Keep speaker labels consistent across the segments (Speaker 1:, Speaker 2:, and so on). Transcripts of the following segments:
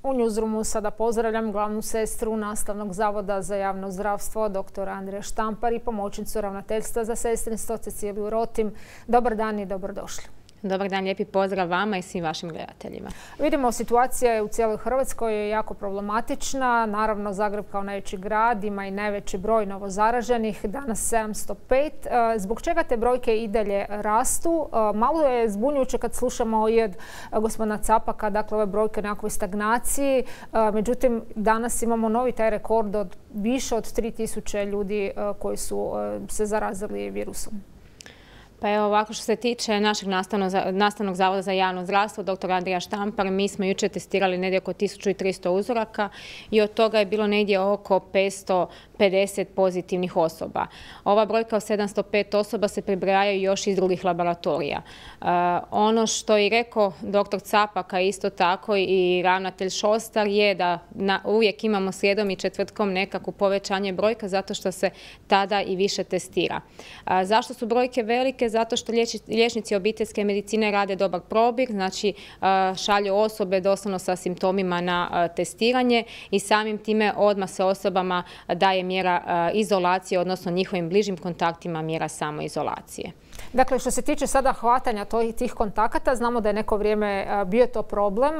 Speaker 1: U Newsroomu sada pozdravljam glavnu sestru Nastavnog zavoda za javno zdravstvo, dr. Andrija Štampar i pomoćnicu ravnateljstva za sestrinstvo Ceciliju Rotim. Dobar dan i dobrodošli.
Speaker 2: Dobar dan, lijepi pozdrav vama i svim vašim gledateljima.
Speaker 1: Vidimo, situacija je u cijeloj Hrvatskoj jako problematična. Naravno, Zagreb kao najveći grad ima i najveći broj novozaraženih, danas 705. Zbog čega te brojke i dalje rastu? Malo je zbunjujuće kad slušamo i od gospodina Capaka, dakle ove brojke o nekakvoj stagnaciji. Međutim, danas imamo novi taj rekord od više od 3000 ljudi koji su se zarazili virusom.
Speaker 2: Pa evo ovako, što se tiče našeg Nastavnog zavoda za javno zdravstvo, dr. Andrija Štampar, mi smo jučer testirali negdje oko 1300 uzoraka i od toga je bilo negdje oko 550 pozitivnih osoba. Ova brojka od 705 osoba se pribrajaju još iz drugih laboratorija. Ono što je rekao dr. Capak, a isto tako i ravnatelj Šostar, je da uvijek imamo srijedom i četvrtkom nekako povećanje brojka zato što se tada i više testira. Zašto su brojke velike? Zato što liječnici obiteljske medicine rade dobar probir, znači šalju osobe doslovno sa simptomima na testiranje i samim time odmah se osobama daje mjera izolacije, odnosno njihovim bližim kontaktima mjera samoizolacije.
Speaker 1: Dakle, što se tiče sada hvatanja tih kontakata, znamo da je neko vrijeme bio to problem.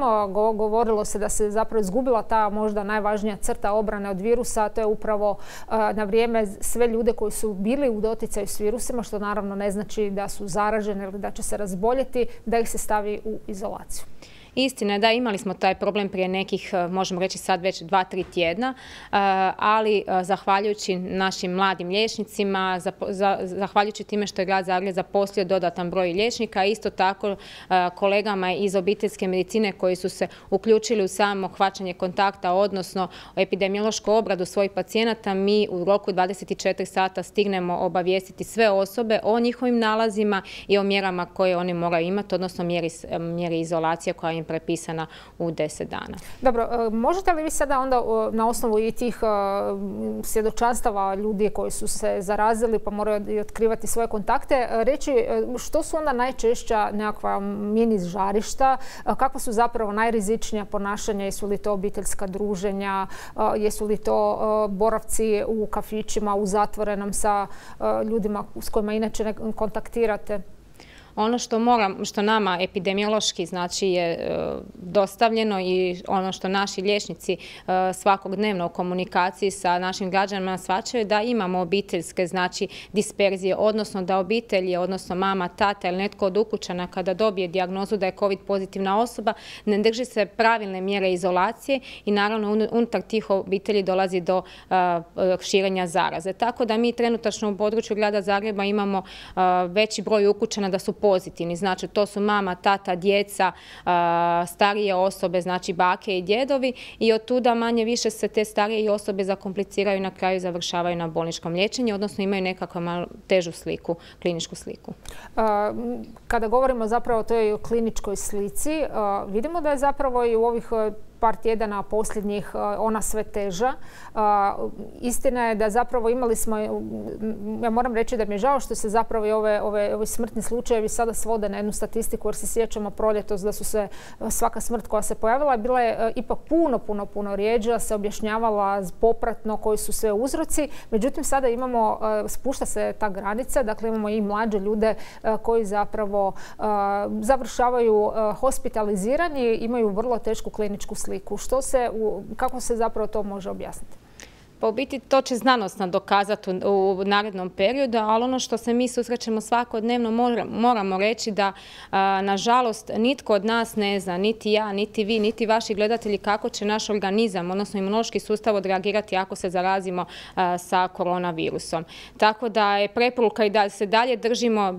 Speaker 1: Govorilo se da se zapravo izgubila ta možda najvažnija crta obrane od virusa, a to je upravo na vrijeme sve ljude koji su bili u doticaju s virusima, što naravno ne znači da su zaraženi ili da će se razboljeti, da ih se stavi u izolaciju.
Speaker 2: Istina je da imali smo taj problem prije nekih, možemo reći sad već 2-3 tjedna, ali zahvaljujući našim mladim liječnicima, zahvaljujući time što je grad Zagreb zaposlio dodatan broj liječnika, a isto tako kolegama iz obiteljske medicine koji su se uključili u samo hvaćanje kontakta, odnosno epidemiološku obradu svojih pacijenata, mi u roku 24 sata stignemo obavijestiti sve osobe o njihovim nalazima i o mjerama koje oni moraju imati, odnosno mjeri izolacije koja im prepisana u 10 dana.
Speaker 1: Dobro, možete li vi sada onda na osnovu i tih svjedočanstava ljudi koji su se zarazili pa moraju i otkrivati svoje kontakte reći što su onda najčešća nekakva mini žarišta, kakva su zapravo najrizičnija ponašanja, jesu li to obiteljska druženja, jesu li to boravci u kafićima, u zatvorenom sa ljudima s kojima inače ne kontaktirate?
Speaker 2: Ono što nama epidemiološki znači je dostavljeno i ono što naši liječnici svakodnevno u komunikaciji sa našim građanima shvaćaju da imamo obiteljske znači disperzije, odnosno da obitelji, odnosno mama, tata ili netko od ukućana kada dobije dijagnozu da je COVID pozitivna osoba ne drži se pravilne mjere izolacije i naravno unutar tih obitelji dolazi do širenja zaraze. Tako da mi trenutačno u području grada Zagreba imamo veći broj ukućana da su pozitivni. Znači, to su mama, tata, djeca, starije osobe, znači bake i djedovi i od tuda manje više se te starije osobe zakompliciraju i na kraju završavaju na bolničkom liječenju, odnosno imaju nekakvu malo težu sliku, kliničku sliku.
Speaker 1: Kada govorimo zapravo o toj kliničkoj slici, vidimo da je zapravo i u ovih par tjedana posljednjih ona sve teža. Istina je da zapravo imali smo, ja moram reći da mi je žao što se zapravo i ovi smrtni slučajevi sada svode na jednu statistiku, jer se sjećamo proljetos da su se svaka smrt koja se pojavila bila je ipak puno rijeđa, se objašnjavala popratno koji su sve uzroci. Međutim, sada imamo, spušta se ta granica, dakle imamo i mlađe ljude koji zapravo završavaju hospitalizirani, imaju vrlo tešku kliničku sliku. Kako se zapravo to može objasniti?
Speaker 2: Pa u biti to će znanost dokazati u narednom periodu, ali ono što se mi susrećemo svakodnevno moramo reći da nažalost nitko od nas ne zna, niti ja, niti vi, niti vaši gledatelji kako će naš organizam, odnosno imunološki sustav odreagirati ako se zarazimo sa koronavirusom. Tako da je preporuka i da se dalje držimo,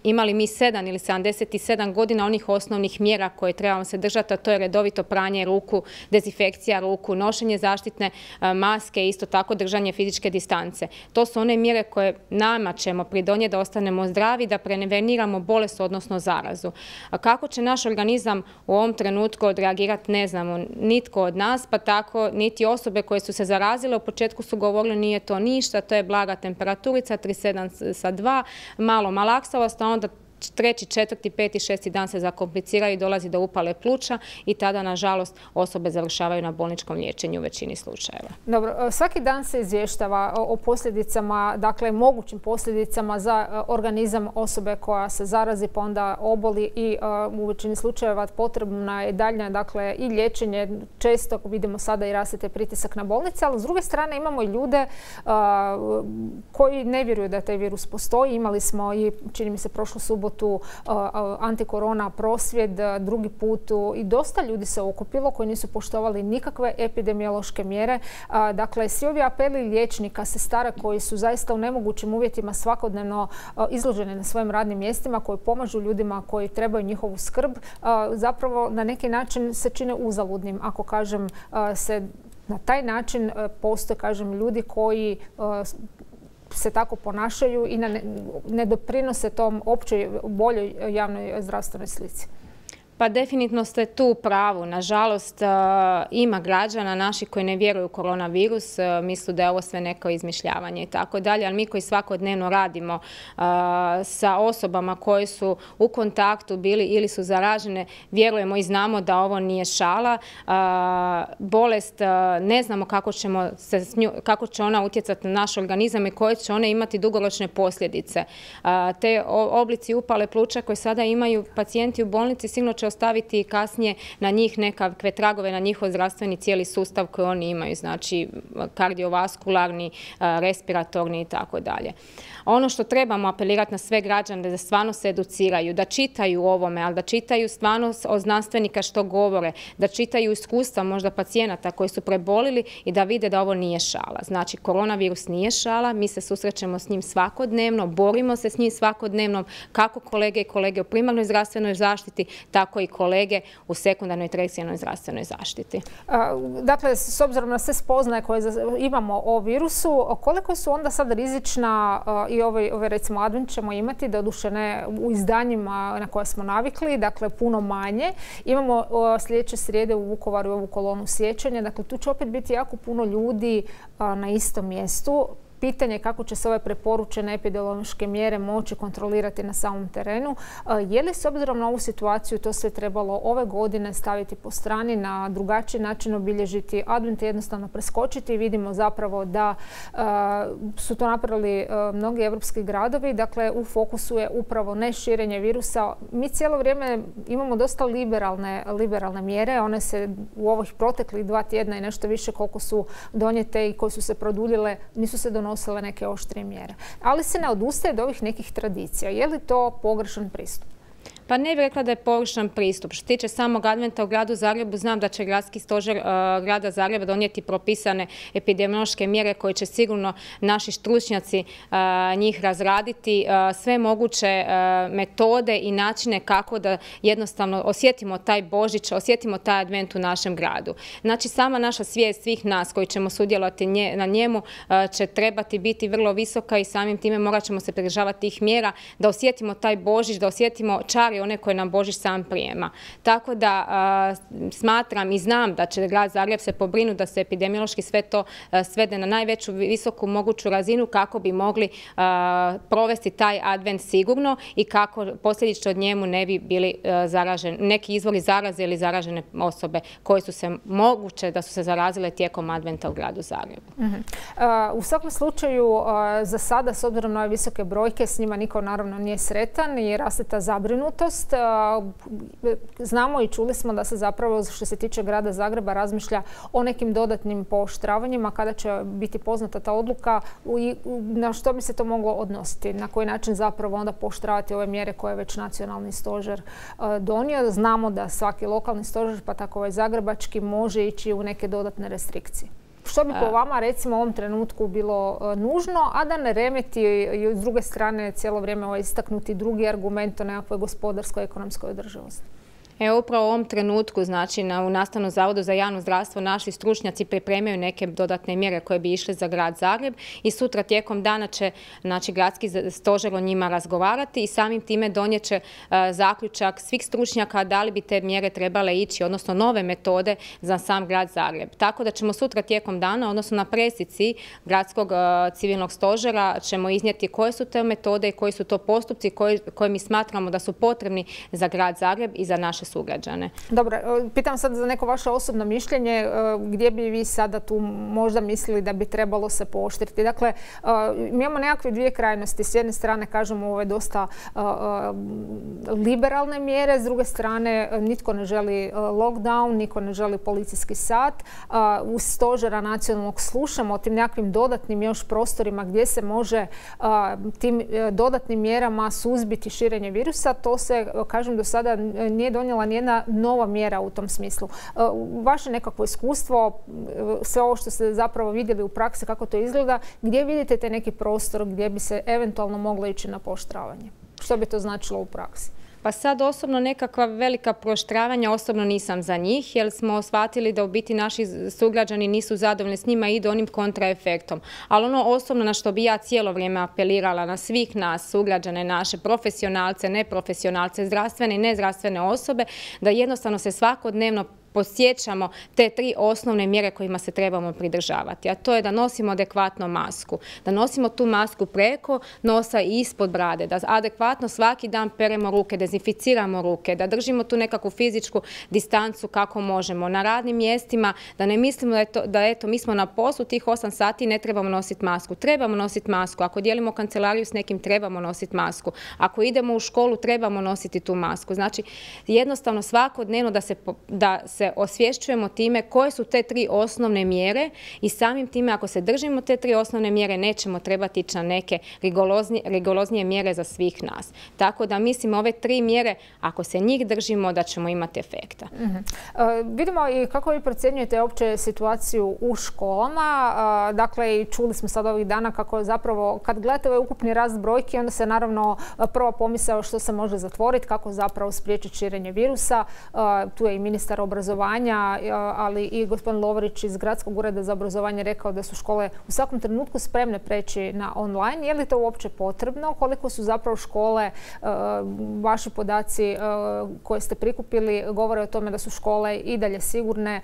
Speaker 2: imali mi 7 ili 77 godina onih osnovnih mjera koje trebamo se držati, a to je redovito pranje ruku, dezinfekcija ruku, nošenje zaštitne maske, isto tako držanje fizičke distance. To su one mjere koje nama ćemo pridonijeti da ostanemo zdravi, da preveniramo bolest, odnosno zarazu. A kako će naš organizam u ovom trenutku odreagirati, ne znamo nitko od nas, pa tako niti osobe koje su se zarazile. U početku su govorili nije to ništa, to je blaga temperaturica, 37,2, malo malaksavost, a onda treći, četvrti, peti, šesti dan se zakompliciraju i dolazi do upale pluća i tada, nažalost, osobe završavaju na bolničkom liječenju u većini slučajeva.
Speaker 1: Dobro, svaki dan se izvještava o posljedicama, dakle mogućim posljedicama za organizam osobe koja se zarazi pa onda oboli i u većini slučajeva potrebna je daljnja, dakle, i liječenje. Često vidimo sada i raste pritisak na bolnice, ali s druge strane imamo i ljude koji ne vjeruju da taj virus postoji. Imali smo i, čini mi se, prošlu subotu antikorona prosvjed, drugi put i dosta ljudi se okupilo koji nisu poštovali nikakve epidemiološke mjere. Dakle, svi ovi apeli liječnika, sestara koji su zaista u nemogućim uvjetima svakodnevno izloženi na svojim radnim mjestima, koji pomažu ljudima koji trebaju njihovu skrb, zapravo na neki način se čine uzaludnim. Ako kažem se na taj način postoje, kažem, ljudi koji se tako ponašaju i ne doprinose tom općoj boljoj javnoj zdravstvenoj slici.
Speaker 2: Pa definitivno ste tu u pravu. Nažalost, ima građana naši koji ne vjeruju u koronavirus, misle da je ovo sve neko izmišljavanje i tako dalje, ali mi koji svakodnevno radimo sa osobama koje su u kontaktu bili ili su zaražene, vjerujemo i znamo da ovo nije šala. Bolest, ne znamo kako će ona utjecati na naš organizam i koje će one imati dugoročne posljedice. Te oblici upale pluća koje sada imaju pacijenti u bolnici sigurno će ostaviti kasnije na njih nekakve tragove, na njihov zdravstveni cijeli sustav koji oni imaju, znači kardiovaskularni, respiratorni i tako dalje. Ono što trebamo apelirati na sve građane da stvarno se educiraju, da čitaju o ovome, ali da čitaju stvarno od znanstvenika što govore, da čitaju iskustva možda pacijenata koji su prebolili i da vide da ovo nije šala. Znači, koronavirus nije šala, mi se susrećemo s njim svakodnevno, borimo se s njim svakodnevno, kako kolege i kolege u primarnoj zdravstvenoj zaštiti, tako i kolege u sekundarnoj i tercijarnoj zdravstvenoj zaštiti.
Speaker 1: Dakle, s obzirom na sve spoznaje koje imamo o virusu, koliko su onda sad rizična i ove recimo advent ćemo imati, doduše ne u izdanjima na koje smo navikli, dakle puno manje. Imamo sljedeće srijede u Vukovaru ovu kolonu sjećanja, dakle tu će opet biti jako puno ljudi na istom mjestu. Pitanje je kako će se ove preporučene epidemiološke mjere moći kontrolirati na samom terenu. Je li s obzirom na ovu situaciju to sve trebalo ove godine staviti po strani, na drugačiji način obilježiti advent, jednostavno preskočiti? Vidimo zapravo da su to napravili mnogi evropski gradovi. Dakle, u fokusu je upravo ne širenje virusa. Mi cijelo vrijeme imamo dosta liberalne mjere. One se u ovih proteklih 2 tjedna i nešto više koliko su donijete i koje su se produljile, nisu se donosile neke oštrije mjere. Ali se ne odustaje od ovih nekih tradicija. Je li to pogrešan pristup?
Speaker 2: Pa ne bih rekla da je pogrešan pristup. Što se tiče samog adventa u gradu Zagrebu, znam da će gradski stožer grada Zagreba donijeti propisane epidemiološke mjere koje će sigurno naši stručnjaci njih razraditi. Sve moguće metode i načine kako da jednostavno osjetimo taj Božić, osjetimo taj advent u našem gradu. Znači, sama naša svijest svih nas koji ćemo sudjelovati na njemu će trebati biti vrlo visoka i samim time morat ćemo se pridržavati tih mjera da osjetimo taj Božić, da osjetimo čari one koje nam Božić sam prijema. Tako da smatram i znam da će grad Zagreb se pobrinuti da se epidemiološki sve to svede na najveću visoku moguću razinu kako bi mogli provesti taj advent sigurno i kako posljedično od njemu ne bi bili zaraženi neki izvori zaraze ili zaražene osobe koje su se moguće da su se zarazile tijekom adventa u gradu Zagrebu.
Speaker 1: U svakom slučaju, za sada, s obzirom na ove visoke brojke, s njima niko naravno nije sretan i raste ta zabrinutost. Znamo i čuli smo da se zapravo, što se tiče grada Zagreba, razmišlja o nekim dodatnim pooštravanjima. Kada će biti poznata ta odluka i na što bi se to moglo odnositi? Na koji način zapravo onda pooštravati ove mjere koje je već nacionalni stožer donio? Znamo da svaki lokalni stožer, pa tako ovaj zagrebački, može ići u neke dodatne restrikcije. Što bi po vama, recimo, u ovom trenutku bilo nužno, a da ne remeti i s druge strane cijelo vrijeme istaknuti drugi argument o nekakvoj gospodarskoj i ekonomskoj održivosti?
Speaker 2: Upravo u ovom trenutku, znači u Nastavnom zavodu za javno zdravstvo naši stručnjaci pripremaju neke dodatne mjere koje bi išle za grad Zagreb i sutra tijekom dana će gradski stožer o njima razgovarati i samim time donijet će zaključak svih stručnjaka da li bi te mjere trebale ići, odnosno nove metode za sam grad Zagreb. Tako da ćemo sutra tijekom dana, odnosno na presici gradskog civilnog stožera ćemo iznijeti koje su te metode i koji su to postupci koje mi smatramo da su potrebni za grad Zagreb i za naše sugrađane.
Speaker 1: Dobro, pitam sad za neko vaše osobno mišljenje, gdje bi vi sada tu možda mislili da bi trebalo se pooštriti? Dakle, mi imamo nekakve dvije krajnosti. S jedne strane kažemo ove dosta liberalne mjere, s druge strane nitko ne želi lockdown, niko ne želi policijski sat. Uz stožera nacionalnog slušamo o tim nekakvim dodatnim još prostorima gdje se može tim dodatnim mjerama suzbiti širenje virusa. To se, kažem, do sada nije donijela nijedna nova mjera u tom smislu. Vaše nekakvo iskustvo, sve ovo što ste zapravo vidjeli u praksi, kako to izgleda, gdje vidite te neki prostor gdje bi se eventualno moglo ići na pooštravanje? Što bi to značilo u praksi?
Speaker 2: Pa sad osobno nekakva velika pooštravanja osobno nisam za njih, jer smo shvatili da u biti naši sugrađani nisu zadovoljni s njima i idu onim kontraefektom. Ali ono osobno na što bi ja cijelo vrijeme apelirala na svih nas, sugrađane naše, profesionalce, neprofesionalce, zdravstvene i nezdravstvene osobe, da jednostavno se svakodnevno posjećamo te tri osnovne mjere kojima se trebamo pridržavati, a to je da nosimo adekvatno masku, da nosimo tu masku preko nosa i ispod brade, da adekvatno svaki dan peremo ruke, dezinficiramo ruke, da držimo tu nekakvu fizičku distancu kako možemo. Na radnim mjestima da ne mislimo da eto mi smo na poslu tih 8 sati i ne trebamo nositi masku. Trebamo nositi masku. Ako dijelimo kancelariju s nekim trebamo nositi masku. Ako idemo u školu trebamo nositi tu masku. Znači jednostavno svakodnevno da se osvješćujemo time koje su te tri osnovne mjere i samim time ako se držimo te tri osnovne mjere nećemo trebati ići na neke rigoroznije mjere za svih nas. Tako da mislim ove tri mjere, ako se njih držimo, da ćemo imati efekta.
Speaker 1: Vidimo i kako vi procjenjujete opće situaciju u školama. Dakle, čuli smo sad ovih dana kako zapravo kad gledate ovaj ukupni rast brojki, onda se naravno prva pomisao što se može zatvoriti, kako zapravo spriječiti širenje virusa. Tu je i ministar obrazovanja, ali i gospodin Lovrić iz Gradskog ureda za obrazovanje rekao da su škole u svakom trenutku spremne preći na online. Je li to uopće potrebno? Koliko su zapravo škole, vaši podaci koje ste prikupili govore o tome da su škole i dalje sigurne,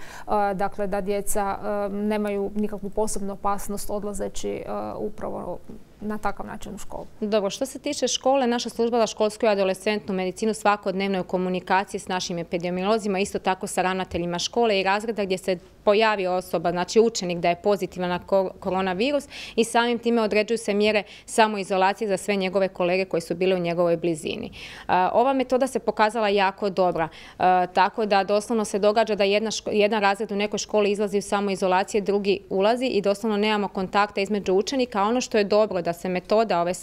Speaker 1: dakle da djeca nemaju nikakvu posebnu opasnost odlazeći upravo na takav način u školu.
Speaker 2: Dobro, što se tiče škole, naša služba za školsku i adolescentnu medicinu svakodnevno je u komunikaciji s našim epidemiolozima, isto tako sa ravnateljima škole i razreda gdje se pojavi osoba, znači učenik da je pozitivan na koronavirus i samim time određuju se mjere samoizolacije za sve njegove kolege koji su bili u njegovoj blizini. Ova metoda se pokazala jako dobra, tako da doslovno se događa da jedan razred u nekoj školi izlazi u samoizolacije, drugi ulazi i doslovno nemamo kontakta između učenika. Ono što je dobro da se metoda ove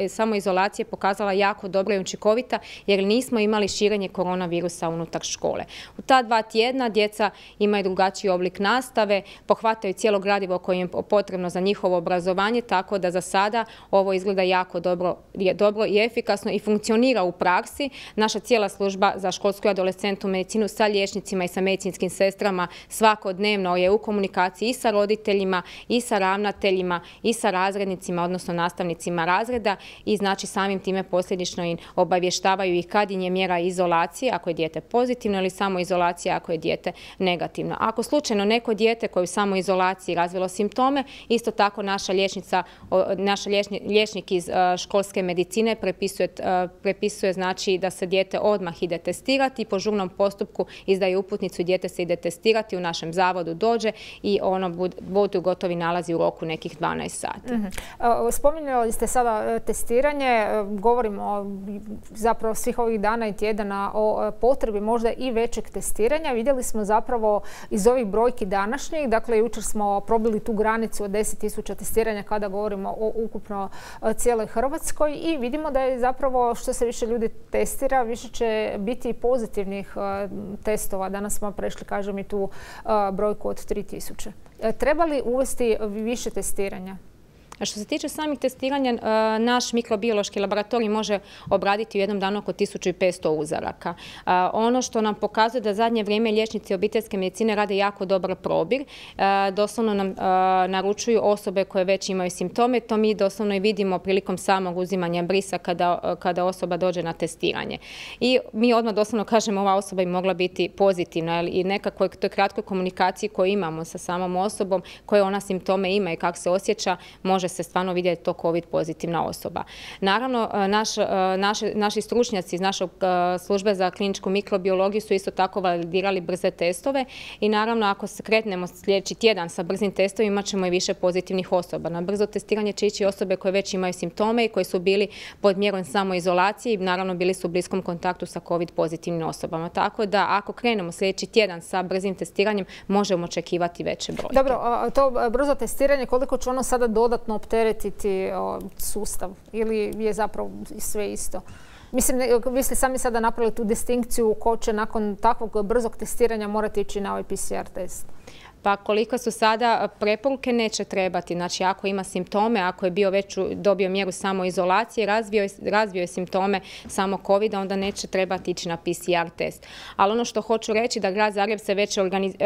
Speaker 2: samoizolacije pokazala jako dobra i učinkovita jer nismo imali širenje koronavirusa unutar škole. U ta 2 tjedna djeca imaju drugačiji oblik nastave, pohvataju cijelo gradivo koje im je potrebno za njihovo obrazovanje, tako da za sada ovo izgleda jako dobro i efikasno i funkcionira u praksi. Naša cijela služba za školsku i adolescentnu medicinu sa liječnicima i sa medicinskim sestrama svakodnevno je u komunikaciji i sa roditeljima i sa ravnateljima i sa razrednicima, odnosno nastavnicima razreda i znači samim time posljedično im obavještavaju i kad im je mjera izolacije, ako je dijete pozitivno ili samoizolacija ako je dijete negativno. Ako slučajno neko dijete koje u samoizolaciji razvilo simptome, isto tako naš liječnik iz školske medicine prepisuje znači da se dijete odmah ide testirati i po žurnom postupku izdaje uputnicu i dijete se ide testirati, u našem zavodu dođe i ono budu gotovi nalazi u roku nekih 12 sati.
Speaker 1: Spominjali ste sada testiranje, govorimo zapravo svih ovih dana i tjedana o potrebi možda i većeg testiranja. Vidjeli smo zapravo iz ovih brojki današnjih, dakle jučer smo probili tu granicu od 10.000 testiranja kada govorimo o ukupno cijeloj Hrvatskoj i vidimo da je zapravo što se više ljudi testira, više će biti pozitivnih testova. Danas smo prešli, kažem, i tu brojku od 3.000. Treba li uvesti više testiranja?
Speaker 2: Što se tiče samih testiranja, naš mikrobiološki laboratorij može obraditi u jednom danu oko 1500 uzoraka. Ono što nam pokazuje da zadnje vrijeme liječnici obiteljske medicine rade jako dobar probir. Doslovno nam naručuju osobe koje već imaju simptome. To mi doslovno i vidimo prilikom samog uzimanja brisa kada osoba dođe na testiranje. I mi odmah doslovno kažemo ova osoba bi mogla biti pozitivna i nekakvoj toj kratkoj komunikaciji koju imamo sa samom osobom, koje ona simptome ima i kako se osjeća, može se stvarno vidjeti to COVID pozitivna osoba. Naravno, naši stručnjaci iz naše službe za kliničku mikrobiologiju su isto tako validirali brze testove i naravno ako se kretnemo sljedeći tjedan sa brzim testovima imat ćemo i više pozitivnih osoba. Na brzo testiranje će ići osobe koje već imaju simptome i koji su bili pod mjerom samoizolacije i naravno bili su u bliskom kontaktu sa COVID pozitivnim osobama. Tako da ako krenemo sljedeći tjedan sa brzim testiranjem možemo očekivati veće brojke.
Speaker 1: Dobro, to brzo testiranje, koliko će ono sada dodatno opteretiti sustav ili je zapravo sve isto? Mislim, vi ste sami sada napravili tu distinkciju ko će nakon takvog brzog testiranja morati ići na ovaj PCR test.
Speaker 2: Pa koliko su sada preporuke neće trebati. Znači ako ima simptome, ako je bio već dobio mjeru samoizolacije, razvio je simptome samo COVID-a, onda neće trebati ići na PCR test. Ali ono što hoću reći da grad Zagreb se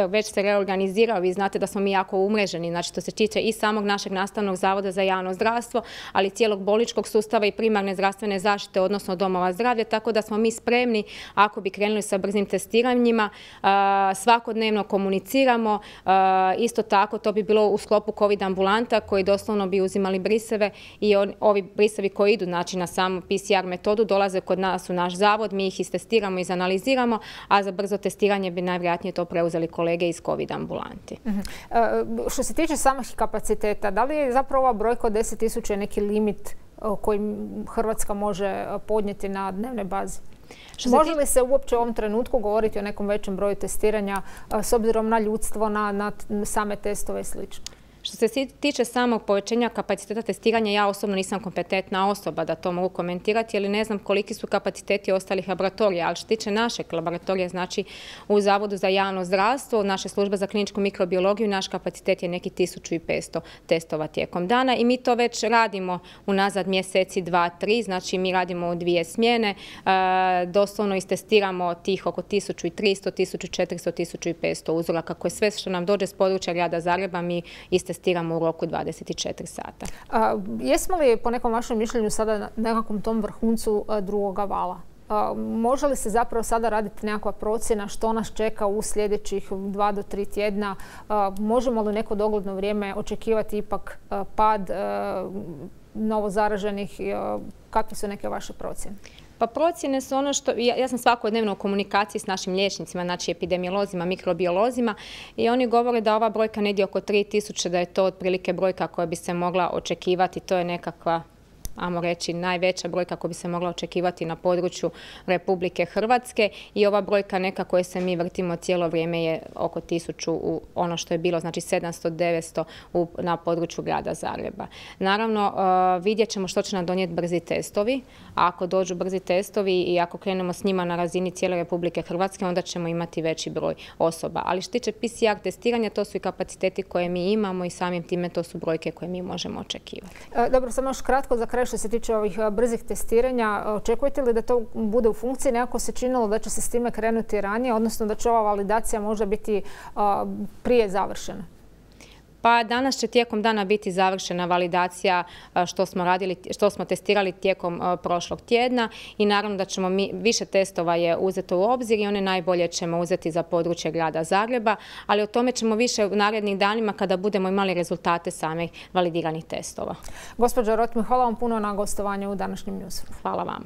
Speaker 2: već se reorganizirao. Vi znate da smo mi jako umreženi. Znači to se tiče i samog našeg nastavnog zavoda za javno zdravstvo, ali cijelog bolničkog sustava i primarne zdravstvene zaštite, odnosno domova zdravlja. Tako da smo mi spremni ako bi krenuli sa brzim testiranjima. Svakodnevno komuniciramo. Isto tako to bi bilo u sklopu COVID ambulanta koji doslovno bi uzimali briseve i ovi brisevi koji idu znači, na samu PCR metodu dolaze kod nas u naš zavod, mi ih istestiramo i izanaliziramo, a za brzo testiranje bi najvjerojatnije to preuzeli kolege iz COVID ambulanti.
Speaker 1: Što se tiče samih kapaciteta, da li je zapravo ova brojka od 10.000 neki limit koji Hrvatska može podnijeti na dnevnoj bazi? Može li se uopće u ovom trenutku govoriti o nekom većem broju testiranja s obzirom na ljudstvo, na same testove i sl.?
Speaker 2: Što se tiče samog povećanja kapaciteta testiranja, ja osobno nisam kompetentna osoba da to mogu komentirati, jer ne znam koliki su kapaciteti ostalih laboratorija, ali što se tiče našeg laboratorija, znači u Zavodu za javno zdravstvo, naše službe za kliničku mikrobiologiju, naš kapacitet je neki 1500 testova tijekom dana i mi to već radimo unazad mjeseci 2-3, znači mi radimo u 2 smjene, doslovno istestiramo tih oko 1300, 1400, 1500 uzoraka, koje sve što nam dođe s područja grada Zagreba mi testiramo u roku 24 sata.
Speaker 1: Jesmo li po nekom vašem mišljenju sada na nekakvom tom vrhuncu drugoga vala? Može li se zapravo sada raditi nekakva procjena što nas čeka u sljedećih 2 do 3 tjedna? Možemo li neko dogledno vrijeme očekivati ipak pad novozaraženih? Kakve su neke vaše procjene?
Speaker 2: Pa procjene su ono što, ja sam svakodnevno u komunikaciji s našim liječnicima, znači epidemiolozima, mikrobiolozima i oni govore da ova brojka negdje oko 3000, da je to otprilike brojka koja bi se mogla očekivati, to je nekakva, ajmo reći, najveća brojka koja bi se mogla očekivati na području Republike Hrvatske i ova brojka neka koje se mi vrtimo cijelo vrijeme je oko 1000 u ono što je bilo, znači 700-900 na području grada Zagreba. Naravno, vidjet ćemo što će nam donijeti brzi testovi. A ako dođu brzi testovi i ako krenemo s njima na razini cijele Republike Hrvatske, onda ćemo imati veći broj osoba. Ali što tiče PCR testiranja, to su i kapaciteti koje mi imamo i samim time to su brojke koje mi možemo očekivati.
Speaker 1: Dobro, samo još kratko za kraj što se tiče ovih brzih testiranja. Očekujete li da to bude u funkciji? Nekako se činilo da će se s time krenuti ranije, odnosno da će ova validacija možda biti prije završena?
Speaker 2: Pa danas će tijekom dana biti završena validacija što smo testirali tijekom prošlog tjedna i naravno da ćemo više testova je uzeto u obzir i one najbolje ćemo uzeti za područje grada Zagreba, ali o tome ćemo više u narednih danima kada budemo imali rezultate samih validiranih testova.
Speaker 1: Gospođo Rotmi, hvala vam puno na gostovanju u današnjem Newsroomu.
Speaker 2: Hvala vama.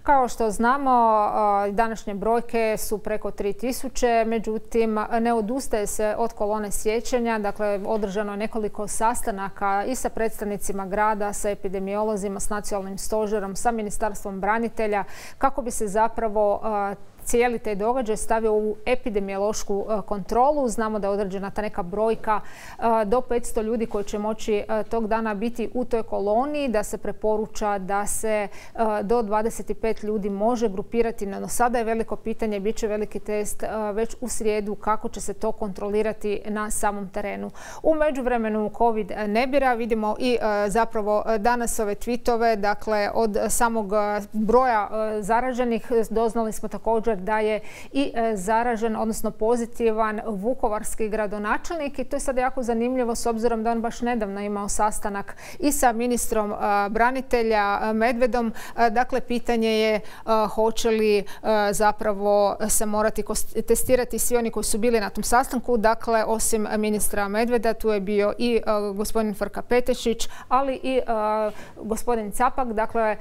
Speaker 1: Kao što znamo, današnje brojke su preko 3000, međutim ne odustaje se od kolone sjećanja. Dakle, održano je nekoliko sastanaka i sa predstavnicima grada, sa epidemiolozima, s nacionalnim stožerom, sa Ministarstvom branitelja, kako bi se zapravo cijeli taj događaj stavio u epidemiološku kontrolu. Znamo da je određena ta neka brojka do 500 ljudi koji će moći tog dana biti u toj koloniji, da se preporuča da se do 25 ljudi može grupirati. No sada je veliko pitanje, bit će veliki test već u srijedu kako će se to kontrolirati na samom terenu. U međuvremenu COVID ne bira, vidimo i zapravo danas ove tweetove, dakle od samog broja zaraženih doznali smo također da je i zaražen, odnosno pozitivan vukovarski gradonačelnik i to je sad jako zanimljivo s obzirom da on baš nedavno imao sastanak i sa ministrom branitelja Medvedom. Dakle, pitanje je hoće li zapravo se morati testirati svi oni koji su bili na tom sastanku. Dakle, osim ministra Medveda, tu je bio i gospodin Frka Petešić, ali i gospodin Capak. Dakle,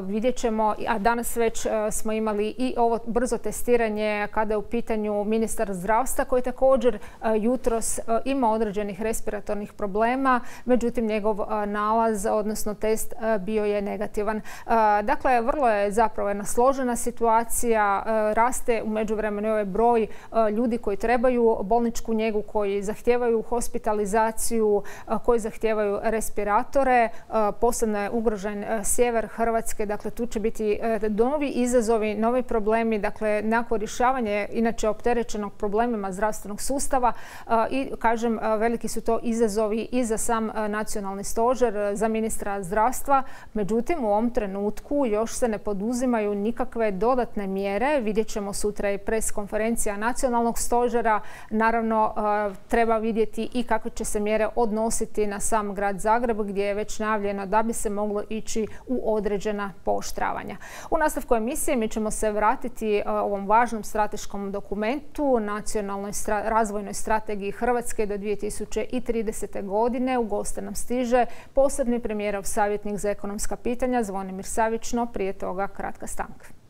Speaker 1: vidjet ćemo, a danas već smo imali i ovo brzo testiranje kada je u pitanju ministar zdravstva koji također jutros ima određenih respiratornih problema, međutim njegov nalaz, odnosno test bio je negativan. Dakle, vrlo je zapravo jedna složena situacija, raste u međuvremenu ovaj broj ljudi koji trebaju bolničku njegu, koji zahtijevaju hospitalizaciju, koji zahtijevaju respiratore. Posebno je ugrožen sjever Hrvatske, dakle tu će biti novi izazovi, novi problemi, dakle nakon rješavanja inače opterećenog problemima zdravstvenog sustava i kažem veliki su to izazovi i za sam nacionalni stožer, za ministra zdravstva. Međutim, u ovom trenutku još se ne poduzimaju nikakve dodatne mjere. Vidjet ćemo sutra i pres konferencija nacionalnog stožera. Naravno, treba vidjeti i kakve će se mjere odnositi na sam grad Zagreb gdje je već najavljeno da bi se moglo ići u određena pooštravanja. U nastavku emisije mi ćemo se vratiti ovom važnom strateškom dokumentu, nacionalnoj razvojnoj strategiji Hrvatske do 2030. godine. U goste nam stiže posebni premijerov savjetnik za ekonomska pitanja Zvonimir Savić, no prije toga kratka stanka.